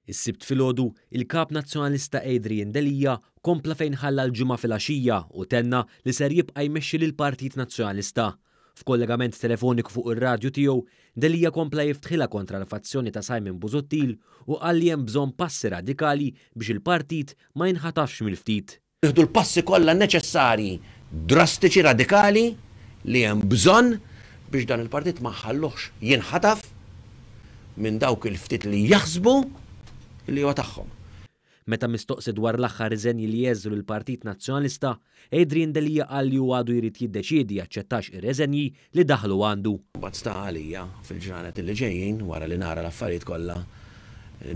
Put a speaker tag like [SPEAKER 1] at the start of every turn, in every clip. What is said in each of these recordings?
[SPEAKER 1] Is-Sibt filgħodu, il-Kap Nazzjonalista Adrian Delia kompla fejn ħalla l-Ġimgħa filgħaxija u tenna li ser jibqa' jmexxi lill-Partit Nazzjonalista. F'kollegament telefoniku fuq ir-radju tiegħu, Delia kompla jiftħilha kontra l-fazzjoni ta' Simon Busuttil u qal li hemm bżonn passi radikali biex il-partit ma jinħatafx mill-ftit.
[SPEAKER 2] Nieħdu l-passi kollha neċessarji, drastiċi, radikali li hemm bżonn biex dan il-partit ma nħalluhx jinħataf minn dawk il-ftit li jaħsbu li huwa tagħhom.
[SPEAKER 1] Meta mistoqsi dwar l-aħħar riżenji li għeżżu lill-Partit Nazzjonalista, Adrian Delia qal li hu għadu jrid jiddeċiedi jaċċettax ir-reżenji li daħlu għandu.
[SPEAKER 2] Imbagħad sta għalija fil-ġranet li ġejjin, wara li nara l-affarijiet kollha,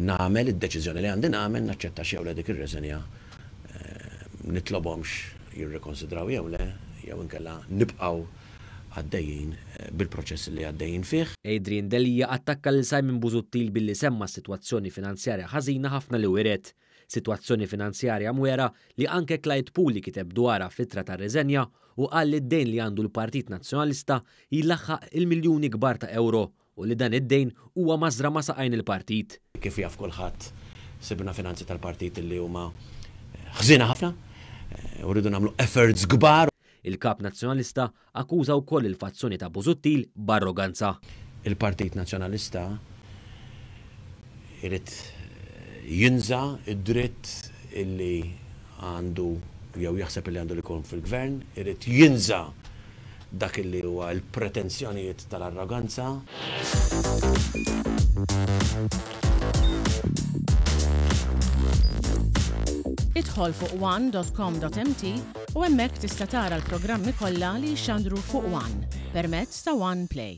[SPEAKER 2] nagħmel id-deċiżjoni li għandi nagħmel, naċċettax jew le dik ir-reżenja, nitlobhomx jirrikonsidraw jew le, jew inkella nibqgħu għaddejjin bil-proċess li għaddejjin fih.
[SPEAKER 1] Adrian Delia attakka lil Simon Busuttil billi semma s-sitwazzjoni finanzjarja ħażina ħafna li wiret. Sitwazzjoni finanzjarja mwegħra li anke Clyde Puli kiteb dwarha fl-ittra tar-riżenja u qal li d-dejn li għandu l-Partit Nazzjonalista jlaħħaq il-miljuni kbar ta' ewro u li dan id-dejn huwa mażra ma' saqajn il-partit.
[SPEAKER 2] Kif jaf kulħadd, sibna finanzi tal-partit li huma ħżiena ħafna u rridu nagħmlu efforts kbar.
[SPEAKER 1] Il-Kap Nazzjonalista akkuża wkoll il-fazzjoni ta' Busuttil b'arroganza.
[SPEAKER 2] Il-Partit Nazzjonalista jrid jinża' d-dritt illi għandu jew jaħseb illi għandu li jkun fil-Gvern, irid jinża' dak illi huwa l-pretensjonijiet tal-arroganza.
[SPEAKER 3] Idħol fuq one dot com dot mt u hemmhekk tista' tara l-programmi kollha li jixxandru fuq one permezz ta' One Play.